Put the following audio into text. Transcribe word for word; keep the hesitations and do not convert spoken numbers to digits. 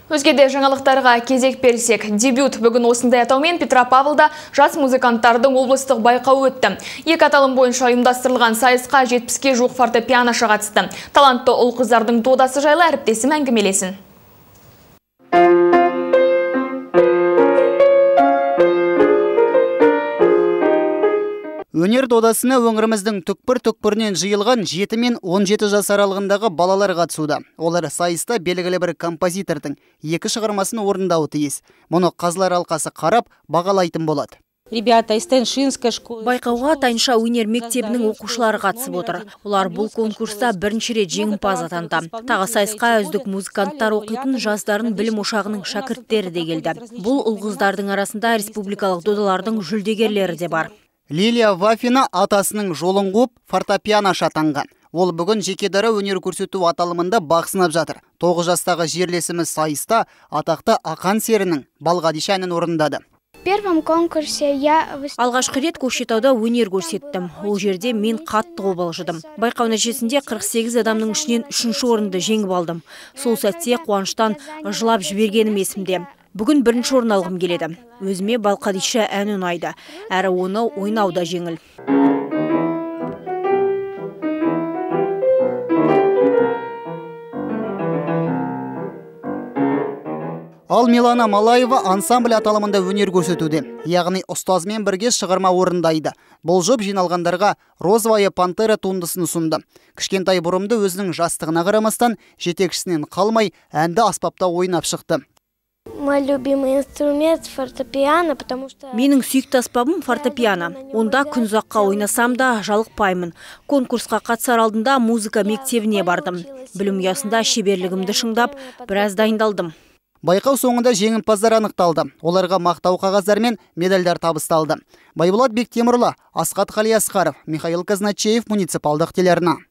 Өзгеде жаңалықтарға кезек берсек, дебют бүгін осындай атаумен Петропавлда жас музыканттардың облыстық байқауы өтті. Екі аталым бойынша ұйымдастырылған сайысқа жетпіске жуық фортепианошы қатысты. Талантты ұл қыздардың додасы жайлы әріптесім әңгімелесін. Өнер додасына өңіріміздің түкпір-түкпірінен жиылған жеті мен он жеті жас аралығындағы балалар қатысуда. Олар сайыста белгілі бір композитордың екі шығармасын орындауы тиіс. Мұны қазылар алқасы қарап, бағалайтын болады. Байқауға Тайынша өнер мектебінің оқушылары қатысып отыр. Олар бұл конкурста бірінші рет жеңімпаз атанды. Тағы сайысқа үздік музыканттар оқитын жастардың білім ошағының шәкірттері де келді. Бұл ұл қыздардың арасында республикалық додалардың жүлдегерлері де бар. Лилия Вафина атасының жолын қуып фортепианошы атанған. Ол бүгін жекедара өнер көрсету аталымында бақ сынап жатыр. тоғыз жастағы жерлесіміз сайыста атақты Ақан серінің Балғадиша әнін орындады. Алғашқы рет Көкшетауда өнер көрсеттім. Ол жерде мен қатты қобалжыдым. Байқау нәтижесінде қырық сегіз адамның ішінен үшінші орынды жеңіп алдым. Сол сәтте қуаныштан жылап жібергенім есімде. Бүгін бірінші орын алғым келеді. Өзіме Балқадиша әні ұнайды, әрі оны ойнауда жеңіл. Ал Милана Малаева ансамбль аталымында өнер көрсетуде, яғни ұстазымен бірге шығарма орындайды. Бұл жұп жиналғандарға Розовая пантера туындысын ұсынды. Кішкентай бұрымды өзінің жастығына қарамастан жетекшісінен қалмай әнді аспапта ойнап шықты. Менің сүйікті аспабым фортепиано. Онда күн ұзаққа ойнасам да жалықпаймын. Конкурсқа қатысар алдында музыка мектебіне бардым. Білім ұясында шеберлігімді шыңдап, біраз дайындалдым. Байқау соңында жеңімпаздар анықталды. Оларға мақтау қағаздар мен медальдар табысталды. Байболат Бектемірлі, Асқат Қалиасқаров, Михаил Казначеев, муниципалдық телеарна.